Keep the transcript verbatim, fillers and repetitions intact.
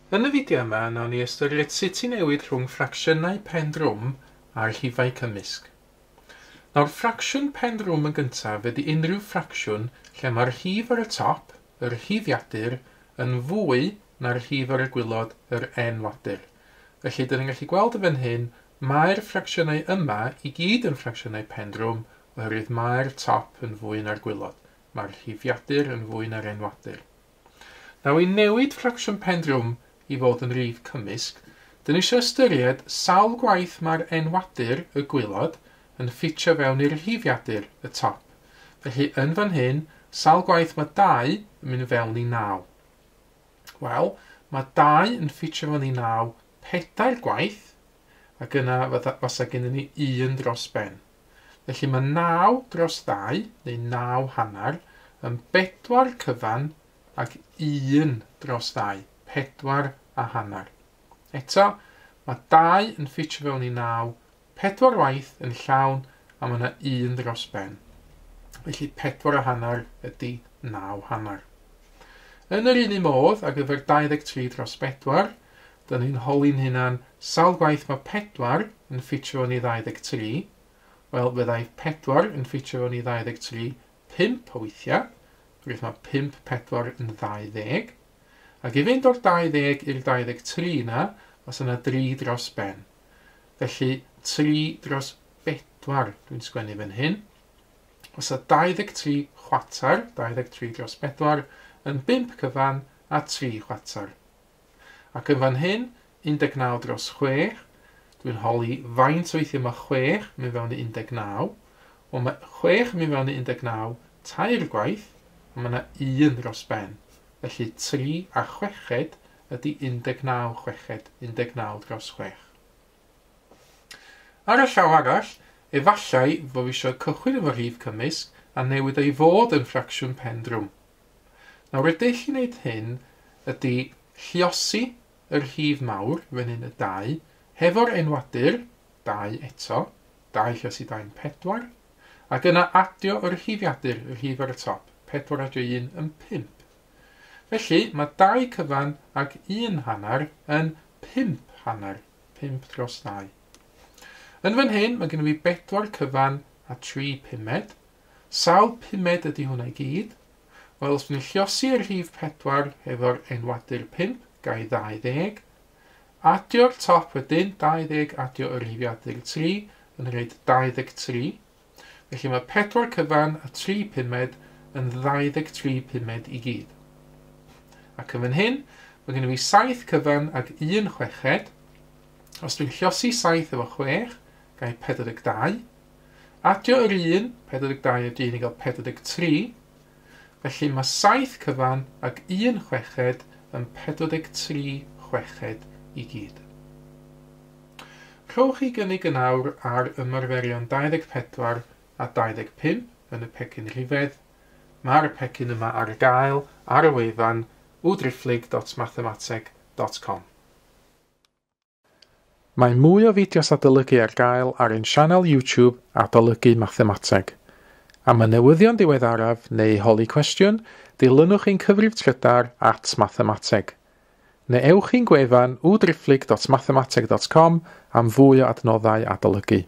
Yn y fideo yma, nawn ni ystyried sut i newid rhwng ffracsiynau pen drwm a'r rhifau cymysg. Nawr, ffracsiwn pen drwm yn gyntaf ydy unrhyw ffracsiwn lle mae'r rhif ar y top, yr rhifiadur, yn fwy na'r rhif ar y gwaelod, yr enwadur. Felly, dyn ni'n gallu gweld y fan hyn, mae'r ffracsiynau yma i gyd yn ffracsiynau pen drwm oherwydd mae'r top yn fwy na'r gwaelod. Mae'r rhifiadur yn fwy na'r enwadur. Nawr, i newid ffracsiwn pen drwm i fod yn rif cymysg, dyn ni eisiau ystyried sawl gwaith mae'r enwadur, y gwaelod, yn ffitio fewn i'r rhifiadur, y top. Felly, yn fan hyn, sawl gwaith mae dau yn mynd fewn i naw. Wel, mae dau yn ffitio fewn i naw pedair gwaith, ac yna fasa gennym ni un dros ben. Felly mae naw dros ddau, neu naw hanner, yn bedwar cyfan ac un dros ddau, pedwar a hanner. Eto, mae dau yn ffitio fewn i naw, pedwar waith yn llawn, a mae yna un dros ben. Felly pedwar a hanner ydy naw hanner. Yn yr un un modd, ar gyfer dau ddeg tri dros bedwar, dyn ni'n holi'n hunan sawl gwaith mae pedwar yn ffitio fewn i ddau ddeg tri. Wel, fyddai pedwar yn ffitio fewn i ddau ddeg tri pump o weithiau, oherwydd mae pump pedwar yn ddau ddeg. Ac i fynd o'r dau ddeg i'r dau ddeg tri yna, os yna dri dros ben. Felly, tri dros bedwar dwi'n sgwennu fan hyn. Os yna dau ddeg tri chwarter, dau ddeg tri dros bedwar, yn bump cyfan a tri chwarter. Ac yn fan hyn, un deg naw dros chwech, dwi'n holi faint weithiau mae chwech mynd fewn i un deg naw. Wel, mae chwech mynd fewn i un deg naw tair gwaith, a mae yna un dros ben. Felly tri a chweched ydy un deg naw chweched, un deg naw dros chwech. Ar y llaw arall, efallai fod fi eisiau cychwyn efo rhif cymysg a newid ei fod yn ffracsiwn pen drwm. Nawr, y dull i wneud hyn ydy lluosi yr rhif mawr, fan hyn y dau, hefo'r enwadur, dau eto, dau lluosi dau yn pedwar, ac yna adio yr rhifiadur, y rhif ar y top, pedwar adio un yn pump. Felly, mae dau cyfan ac un hanner yn pump hanner, pump dros ddau. Yn fan hyn, mae gennym fi bedwar cyfan a tri pumed. Sawl pumed ydy hwnna i gyd? Wel, os ni'n lluosi'r rhif pedwar hefo'r enwadur pump, gai ddau ddeg. Adio'r top wedyn, dau ddeg adio yr rhifiadur tri, yn rhaid dau ddeg tri. Felly mae pedwar cyfan a tri pumed yn ddau ddeg tri pumed i gyd. Ac yn fan hyn, mae gennym fi saith cyfan ac un chweched. Os dwi'n lluosi saith efo chwech, gai pedwar deg dau. Adio yr un, pedwar deg dau adio un i gael pedwar deg tri. Felly mae saith cyfan ac un chweched yn pedwar deg tri chweched i gyd. Rhowch chi gynnig yn awr ar ymarferion dau ddeg pedwar a dau ddeg pump yn y pecyn rhifedd. Mae'r pecyn yma ar gael ar y wefan w driphlyg dot mathemateg dot com. Mae mwy o fideos adolygu ar gael ar ein sianel YouTube Adolygu Mathemateg. Am y newyddion diweddaraf neu holi cwestiwn, dilynwch ein cyfrif trydar at mathemateg. Neu ewch i'n gwefan w driphlyg dot mathemateg dot com am fwy o adnoddau adolygu.